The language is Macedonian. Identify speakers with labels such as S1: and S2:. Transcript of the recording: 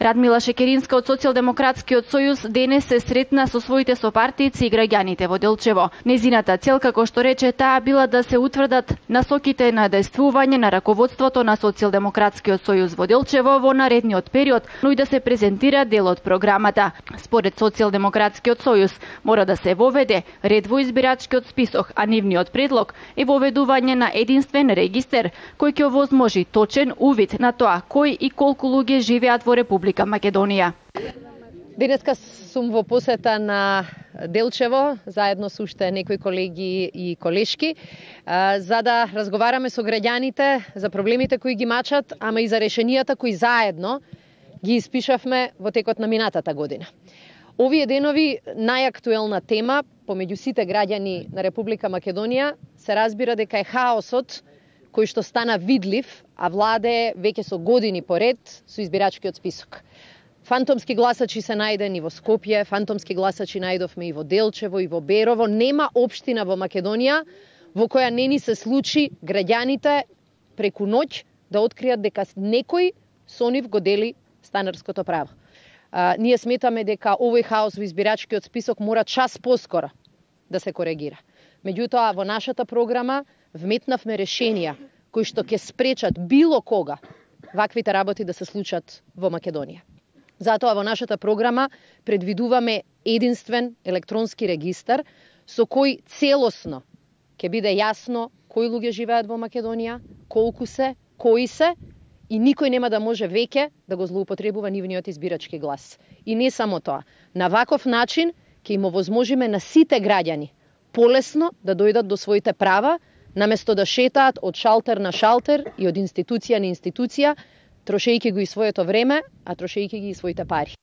S1: Радмила Шекеринска од Социјалдемократскиот сојуз денес се сретна со своите сопартијци и граѓаните во Делчево. Незината цел, како што рече таа, била да се утврдат насоките на действување на раководството на Социјалдемократскиот сојуз во Делчево во наредниот период, но и да се презентира дел од програмата. Според Социјалдемократскиот сојуз мора да се воведе ред во избирачкиот список, а нивниот предлог е воведување на единствен регистер кој ќе овозможи точен увид на тоа кој и колку луѓе живеат во Република Македонија.
S2: Денеска сум во посета на Делчево, заедно со уште некои колеги и колешки, за да разговараме со граѓаните за проблемите кои ги мачат, ама и за решенијата кои заедно ги испишавме во текот на минатата година. Овие денови најактуелна тема помеѓу сите граѓани на Република Македонија се разбира дека е хаосот кој што стана видлив, а владее веќе со години поред со избирачкиот список. Фантомски гласачи се најдени во Скопје, фантомски гласачи најдовме и во Делчево и во Берово. Нема општина во Македонија во која не ни се случи граѓаните преку ноќ да откријат дека некој со нив го дели станарското право. Ние сметаме дека овој хаос во избирачкиот список мора час поскоро да се коригира. Меѓутоа, во нашата програма вметнавме решенија кои што ќе спречат било кога ваквите работи да се случат во Македонија. Затоа во нашата програма предвидуваме единствен електронски регистар со кој целосно ќе биде јасно кои луѓе живеат во Македонија, колку се, кои се, и никој нема да може веќе да го злоупотребува нивниот избирачки глас. И не само тоа, на ваков начин ќе им овозможиме на сите граѓани полесно да дојдат до своите права, наместо да шетаат од шалтер на шалтер и од институција на институција, трошејќи го и своето време, а трошејќи ги и своите пари.